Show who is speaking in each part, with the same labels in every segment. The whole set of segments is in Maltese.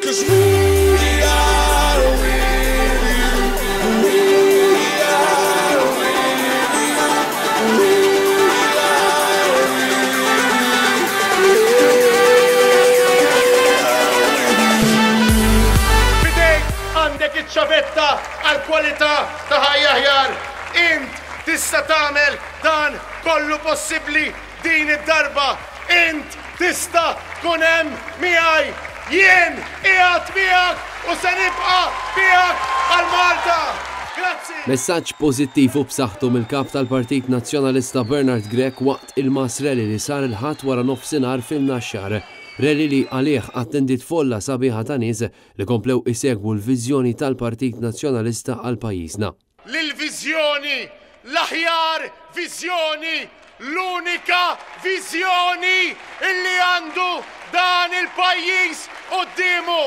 Speaker 1: Cause we are with you. We are with you. We are
Speaker 2: F'idejk għandek iċ-ċavetta għal kwalità ta' ħajja aħjar. Int tista' tagħmel dan kollu possibbli din id-darba. Int tista' tkun hemm miegħi. Jien qiegħed miegħek u se nibqa' miegħek għal Malta. Grazzi.
Speaker 3: Messaġġ pożittiv u b'saħħtu mill-Kap tal-Partit Nazzjonalista Bernard Grech waqt il-mass rally li sar il-Ħadd wara nofsinhar fin-Naxxar. Rally li għalih attendiet folla sabiħa ta' nies li komplew isegwu l-viżjoni tal-Partit Nazzjonalista għal pajjiżna.
Speaker 2: L-viżjoni, l-aħjar viżjoni, l-unika viżjoni illi għandu dan il-pajjiż quddiemu.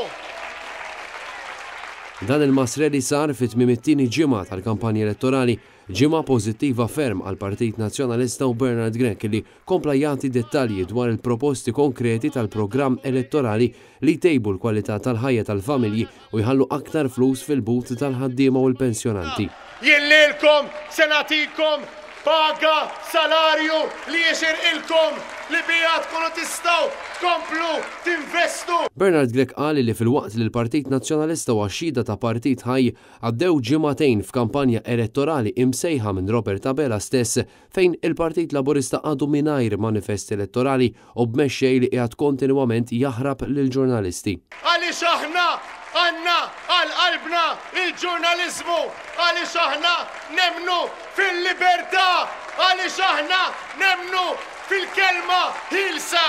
Speaker 3: Dan il-mass rally sar fi tmiem it-tieni ġimgħa tal-kampanja elettorali, ġimgħa pożittiva ferm għall-Partit Nazzjonalista u Bernard Grech li kompla jagħti dettalji dwar il-proposti konkreti tal-programm elettorali li jtejbu l-kwalità tal-ħajja tal-familji u jħallu aktar flus fil-but tal-ħaddiema u l-pensjonanti.
Speaker 2: Jien lilkom se nagħtikom paga, salarju li jixirqilkom, li biha tkunu tistgħu tkomplu tinvestu.
Speaker 3: Bernard Grech qal li filwaqt li l-Partit Nazzjonalista huwa xhieda ta' partit ħaj, għaddew ġimagħtejn f'kampanja elettorali imsejħa minn Robert Abela stess fejn il-Partit Laburista għadu mingħajr manifest elettorali u b'mexxej li qiegħed kontinwament jaħrab lill-ġurnalisti.
Speaker 2: Għaliex aħna għandna għal qalbna l-ġurnaliżmu, għaliex aħna nemmnu fil-libertà, għaliex aħna nemmnu fil-kelma ħielsa.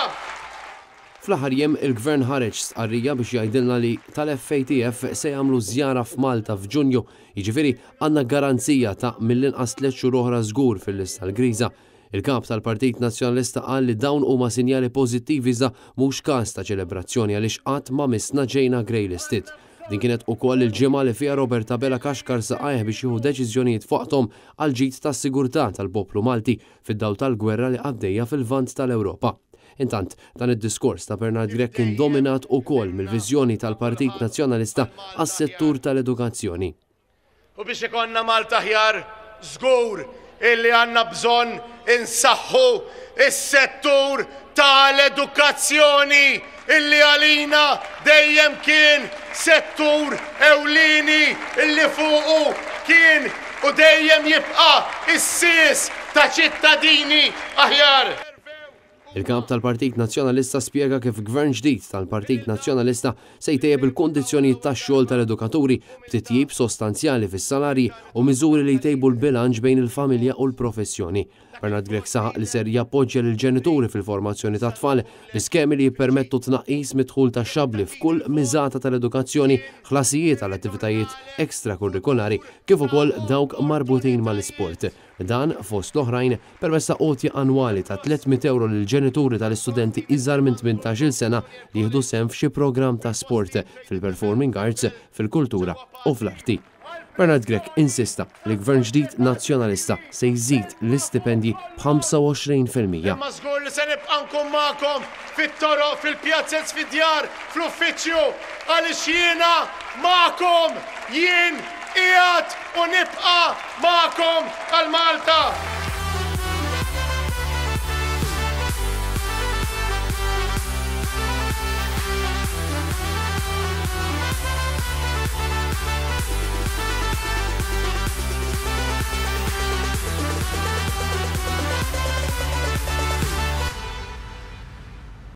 Speaker 3: Fl-aħħar jiem il-Gvern ħareġ stqarrija biex jgħidilna li tal-FATF se jagħmlu żjara f'Malta f'Ġunju, jiġifieri għandna garanzija ta' mill-inqas tlett xhur oħra żgur fil-lista l-griża. Il-Kap tal-Partit Nazzjonalista qal li dawn huma sinjali pożittivi iżda mhux każ ta' ċelebrazzjoni għaliex qatt ma missna ġejna greylisted. Din kienet ukoll il-ġimgħa li fiha Robert Abela kaxkar saqajh biex jieħu deċiżjonijiet f'waqthom għall-ġid tas-sigurtà tal-poplu Malti fid-dawl tal-gwerra li għaddejja fil-Lvant tal-Ewropa. Intant, dan id-diskors ta' Bernard Grech kien dominat ukoll mill-viżjoni tal-Partit Nazzjonalista għas-settur tal-edukazzjoni.
Speaker 2: U biex ikollna Malta aħjar, żgur illi għandna bżonn insaħħu s-settur tal-edukazzjoni illi għalina dejjem kien settur ewlieni illi fuqu kien u dejjem jibqa' s-sies ta' ċittadini aħjar.
Speaker 3: Il-Kap tal-Partit Nazzjonalista spjega kif Gvern ġdid tal-Partit Nazzjonalista se jtejjeb il-kundizzjonijiet tax-xogħol tal-edukaturi b'titjib sostanzjali fis-salarji u miżuri li jtejbu l-bilanċ bejn il-familja u l-professjoni. Bernard Grech saħaq li ser jappoġġja lill-ġenituri fil-formazzjoni tat-tfal bi skemi li jippermettu tnaqqis mid-dħul taxxabbli f'kull miżata tal-edukazzjoni, ħlasijiet għal attivitajiet extrakurrikulari kif ukoll dawk marbutin mal-isport. Dan, fost l-oħrajn, permezz ta' għotja annwali ta' 300 ewro lill-ġenituri tal-istudenti iżgħar minn 18-il sena li jieħdu sehem f'xi programm ta' sport, fil-performing arts, fil-kultura u fl-arti. Bernard Grech insista li Gvern ġdid Nazzjonalista se jżid l-istipendji b'25%.
Speaker 2: Imma żgur li se nibqa' nkun magħkom fit-toroq, fil-pjazez, fid-djar, fl-uffiċċju, għaliex jiena magħkom, jien qiegħed u nibqa' magħkom għal Malta.